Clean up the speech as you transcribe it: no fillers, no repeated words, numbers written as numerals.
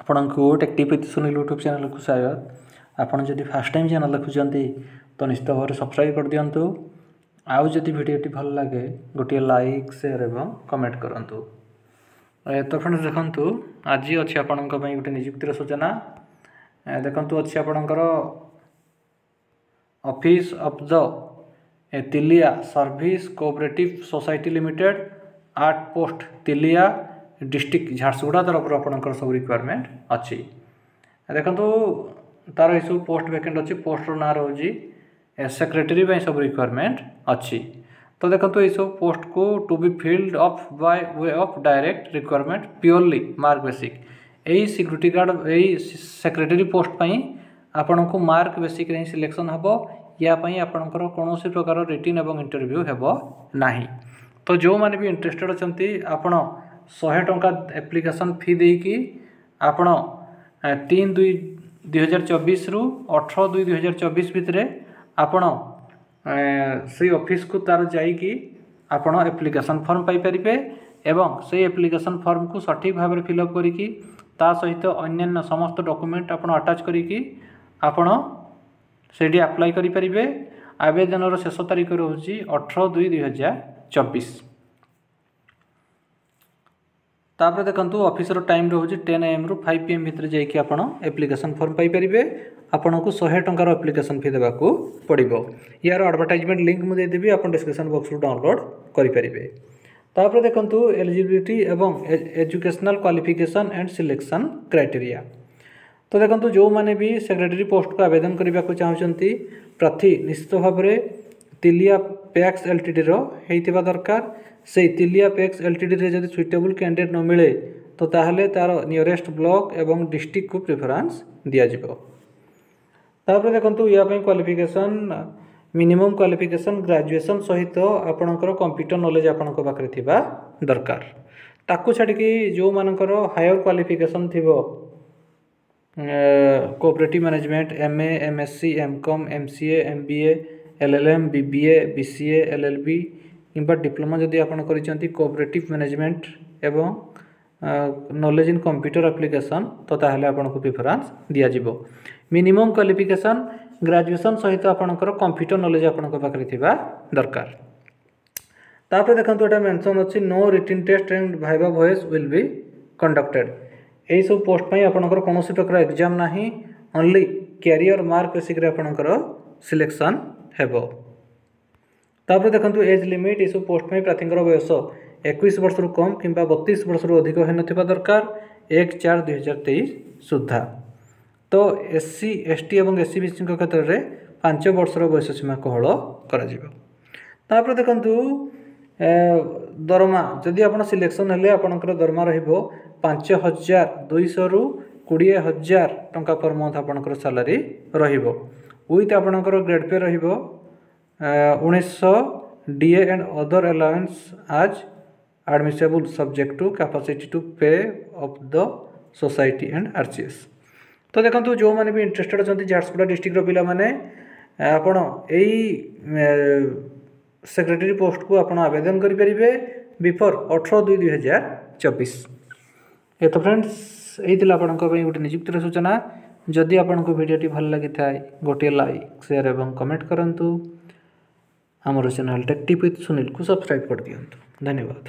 ଆପଣଙ୍କୁ take with Sunil YouTube ଚ୍ୟାନେଲକୁ ସ୍ୱାଗତ। ଆପଣ ଯଦି ଫାର୍ଷ୍ଟ ଟାଇମ୍ ଚ୍ୟାନେଲ୍ ଦେଖୁଛନ୍ତି, ତ ନିଶ୍ଚିତ ଭାବରେ ସବସ୍କ୍ରାଇବ୍ କରିଦିଅନ୍ତୁ। ଆଉ ଯଦି ଭିଡ଼ିଓଟି ଭଲ ଲାଗେ, ଗୋଟିଏ ଲାଇକ୍, ସେୟାର ଏବଂ କମେଣ୍ଟ କରନ୍ତୁ। ତ ଫ୍ରେଣ୍ଡସ୍, ଦେଖନ୍ତୁ, ଆଜି ଅଛି ଆପଣଙ୍କ ପାଇଁ ଗୋଟେ ନିଯୁକ୍ତିର ସୂଚନା। ଦେଖନ୍ତୁ, ଅଛି ଆପଣଙ୍କର office of the Tilia Service Cooperative Society Limited at post Tilia, district Jharsuguda ତରଫରୁ ଆପଣଙ୍କର ସବୁ ରିକ୍ୱାରମେଣ୍ଟ ଅଛି। ଦେଖନ୍ତୁ, ତାର ଏସବୁ ପୋଷ୍ଟ ଭ୍ୟାକେଣ୍ଟ ଅଛି। ପୋଷ୍ଟର ନାଁ ରହୁଛି ସେକ୍ରେଟାରୀ ପାଇଁ ସବୁ ରିକ୍ୱାରମେଣ୍ଟ ଅଛି। ତ ଦେଖନ୍ତୁ, ଏଇସବୁ ପୋଷ୍ଟକୁ to be filled up by way of direct recruitment, purely mark basic. ଏଇ ସିକ୍ୟୁରିଟି ଗାର୍ଡ଼, ଏଇ ସେକ୍ରେଟାରୀ ପୋଷ୍ଟ ପାଇଁ ଆପଣଙ୍କୁ ମାର୍କ ବେସିକ୍ରେ ହିଁ ସିଲେକ୍ସନ୍ ହେବ। ୟା ପାଇଁ ଆପଣଙ୍କର କୌଣସି ପ୍ରକାର ରିଟିନ୍ ଏବଂ ଇଣ୍ଟରଭ୍ୟୁ ହେବ ନାହିଁ। ତ ଯେଉଁମାନେ ବି ଇଣ୍ଟରେଷ୍ଟେଡ଼ ଅଛନ୍ତି, ଆପଣ 100 ଟଙ୍କା ଆପ୍ଲିକେସନ୍ ଫି ଦେଇକି ଆପଣ 3/2/2024ରୁ 18/2/2024 ଭିତରେ ଆପଣ ସେଇ ଅଫିସକୁ ତାର ଯାଇକି ଆପଣ ଆପ୍ଲିକେସନ୍ ଫର୍ମ ପାଇପାରିବେ ଏବଂ ସେଇ ଆପ୍ଲିକେସନ୍ ଫର୍ମକୁ ସଠିକ୍ ଭାବରେ ଫିଲ୍ଅପ୍ କରିକି, ତା ସହିତ ଅନ୍ୟାନ୍ୟ ସମସ୍ତ ଡକୁମେଣ୍ଟ ଆପଣ ଆଟାଚ୍ କରିକି ଆପଣ ସେଇଠି ଆପ୍ଲାଏ କରିପାରିବେ। ଆବେଦନର ଶେଷ ତାରିଖ ରହୁଛି 18/2/2024। ତାପରେ ଦେଖନ୍ତୁ, ଅଫିସର ଟାଇମ୍ ରହୁଛି 10 ଏଏମ୍ରୁ 5 ପିଏମ୍ ଭିତରେ ଯାଇକି ଆପଣ ଆପ୍ଲିକେସନ୍ ଫର୍ମ ପାଇପାରିବେ। ଆପଣଙ୍କୁ 100 ଟଙ୍କାର ଆପ୍ଲିକେସନ୍ ଫି ଦେବାକୁ ପଡ଼ିବ। ୟାର ଆଡ଼ଭର୍ଟାଇଜମେଣ୍ଟ ଲିଙ୍କ୍ ମୁଁ ଦେଇଦେବି, ଆପଣ ଡିସ୍କ୍ରିପସନ୍ ବକ୍ସରୁ ଡାଉନଲୋଡ଼୍ କରିପାରିବେ। ତାପରେ ଦେଖନ୍ତୁ, ଏଲିଜିବିଲିଟି ଏବଂ educational qualification and selection criteria। ତ ଦେଖନ୍ତୁ, ଯେଉଁମାନେ ବି ସେକ୍ରେଟାରୀ ପୋଷ୍ଟକୁ ଆବେଦନ କରିବାକୁ ଚାହୁଁଛନ୍ତି, ପ୍ରାର୍ଥୀ ନିଶ୍ଚିତ ଭାବରେ ତିଲିଆ ପ୍ୟାକ୍ସ ଏଲ୍ଟିଡ଼ିର ହେଇଥିବା ଦରକାର। ସେଇ ତିଲିଆ ପ୍ୟାକ୍ସ ଏଲ୍ଟିଡ଼ିରେ ଯଦି ସୁଇଟେବୁଲ୍ କ୍ୟାଣ୍ଡିଡେଟ୍ ନ ମିଳେ, ତ ତାହେଲେ ତା'ର ନିୟରେଷ୍ଟ ବ୍ଲକ୍ ଏବଂ ଡିଷ୍ଟ୍ରିକ୍ଟକୁ ପ୍ରିଫରାନ୍ସ ଦିଆଯିବ। ତାପରେ ଦେଖନ୍ତୁ, ୟା ପାଇଁ କ୍ୱାଲିଫିକେସନ୍, ମିନିମମ୍ କ୍ୱାଲିଫିକେସନ୍ ଗ୍ରାଜୁଏସନ୍ ସହିତ ଆପଣଙ୍କର କମ୍ପ୍ୟୁଟର ନଲେଜ୍ ଆପଣଙ୍କ ପାଖରେ ଥିବା ଦରକାର। ତାକୁ ଛାଡ଼ିକି ଯେଉଁମାନଙ୍କର ହାୟର କ୍ୱାଲିଫିକେସନ୍ ଥିବ, cooperative management, MA, MSc, M Com, MCA, MBA, LLM, BBA, BCA, LLB କିମ୍ବା ଡିପ୍ଲୋମା ଯଦି ଆପଣ କରିଛନ୍ତି କୋଅପରେଟିଭ୍ ମ୍ୟାନେଜମେଣ୍ଟ ଏବଂ ନଲେଜ୍ ଇନ୍ କମ୍ପ୍ୟୁଟର ଆପ୍ଲିକେସନ୍, ତ ତାହେଲେ ଆପଣଙ୍କୁ ପ୍ରିଫରାନ୍ସ ଦିଆଯିବ। ମିନିମମ୍ କ୍ୱାଲିଫିକେସନ୍ ଗ୍ରାଜୁଏସନ୍ ସହିତ ଆପଣଙ୍କର କମ୍ପ୍ୟୁଟର ନଲେଜ୍ ଆପଣଙ୍କ ପାଖରେ ଥିବା ଦରକାର। ତାପରେ ଦେଖନ୍ତୁ, ଏଇଟା ମେନସନ୍ ଅଛି, no written test and viva voce will be conducted। ଏଇସବୁ ପୋଷ୍ଟ ପାଇଁ ଆପଣଙ୍କର କୌଣସି ପ୍ରକାର ଏକ୍ଜାମ୍ ନାହିଁ। ଓନ୍ଲି କ୍ୟାରିୟର ମାର୍କ ବେସିକ୍ରେ ଆପଣଙ୍କର ସିଲେକ୍ସନ୍ ହେବ। ତାପରେ ଦେଖନ୍ତୁ, ଏଜ୍ ଲିମିଟ୍। ଏସବୁ ପୋଷ୍ଟ ପାଇଁ ପ୍ରାର୍ଥୀଙ୍କର ବୟସ 21 ବର୍ଷରୁ କମ୍ କିମ୍ବା 32 ବର୍ଷରୁ ଅଧିକ ହୋଇନଥିବା ଦରକାର 1/4/2023 ସୁଦ୍ଧା। ତ ଏସ୍ ସି, ଏସ୍ ଟି ଏବଂ ଏସ୍ ଇ ବି ସିଙ୍କ କ୍ଷେତ୍ରରେ 5 ବର୍ଷର ବୟସ ସୀମା କୋହଳ କରାଯିବ। ତାପରେ ଦେଖନ୍ତୁ, ଦରମା। ଯଦି ଆପଣ ସିଲେକ୍ସନ୍ ହେଲେ, ଆପଣଙ୍କର ଦରମା ରହିବ 5200ରୁ 20,000 ଟଙ୍କା ପର୍ ମନ୍ଥ ଆପଣଙ୍କର ସାଲାରୀ ରହିବ। ୱିଥ୍ ଆପଣଙ୍କର ଗ୍ରେଡ଼୍ ପେ ରହିବ 1900, DA and other allowance as admissible, subject to capacity to pay of the society and RCS। ତ ଦେଖନ୍ତୁ, ଯେଉଁମାନେ ବି ଇଣ୍ଟରେଷ୍ଟେଡ଼ ଅଛନ୍ତି, ଝାରସୁଗୁଡ଼ା ଡିଷ୍ଟ୍ରିକ୍ଟର ପିଲାମାନେ, ଆପଣ ଏଇ ସେକ୍ରେଟାରୀ ପୋଷ୍ଟକୁ ଆପଣ ଆବେଦନ କରିପାରିବେ ବିଫୋର୍ 18/2/2024। ଏ ତ ଫ୍ରେଣ୍ଡସ୍, ଏଇ ଥିଲା ଆପଣଙ୍କ ପାଇଁ ଗୋଟେ ନିଯୁକ୍ତିର ସୂଚନା। ଯଦି ଆପଣଙ୍କୁ ଭିଡ଼ିଓଟି ଭଲ ଲାଗିଥାଏ, ଗୋଟିଏ ଲାଇକ୍, ସେୟାର ଏବଂ କମେଣ୍ଟ କରନ୍ତୁ। ଆମର ଚ୍ୟାନେଲ୍ ଟେକ୍ ଟିପ୍ ୱିଥ୍ ସୁନୀଲକୁ ସବସ୍କ୍ରାଇବ୍ କରିଦିଅନ୍ତୁ। ଧନ୍ୟବାଦ।